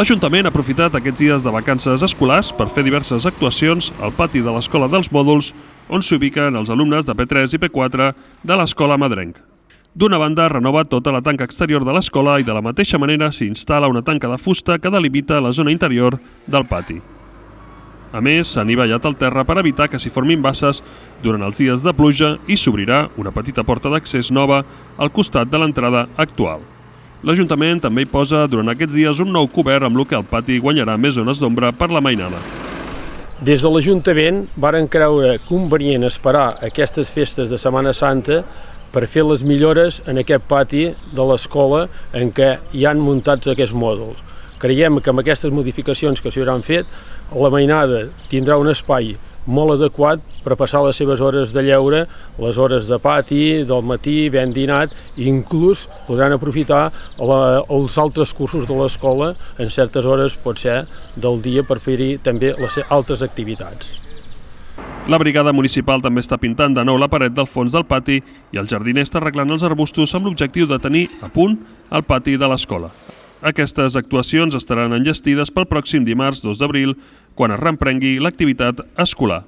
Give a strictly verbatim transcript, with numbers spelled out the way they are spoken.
L'Ajuntament ha aprofitat aquests dies de vacances escolars per fer diverses actuacions al pati de l'Escola dels Mòduls, on s'ubiquen els alumnes de P tres i P quatre de l'Escola Madrenc. D'una banda, renova tota la tanca exterior de l'escola i de la mateixa manera s'hi instal·la una tanca de fusta que delimita la zona interior del pati. A més, s'ha anivellat el terra per evitar que s'hi formin basses durant els dies de pluja i s'obrirà una petita porta d'accés nova al costat de l'entrada actual. L'Ajuntament també hi posa durant aquests dies un nou cobert amb el que el pati guanyarà més zones d'ombra per la mainada. Des de l'Ajuntament varen creure convenient esperar aquestes festes de Setmana Santa per fer les millores en aquest pati de l'escola en què hi han muntats aquests mòduls. Creiem que amb aquestes modificacions que s'hi hauran fet, la mainada tindrà un espai molt adequat per passar les seves hores de lleure, les hores de pati, del matí, ben dinat, i inclús podran aprofitar la, els altres cursos de l'escola en certes hores, pot ser, del dia per fer-hi també les altres activitats. La brigada municipal també està pintant de nou la paret del fons del pati i el jardiner està arreglant els arbustos amb l'objectiu de tenir a punt el pati de l'escola. Aquestes actuacions estaran enllestides pel pròxim dimarts dos d'abril, quan es reprengui l'activitat escolar.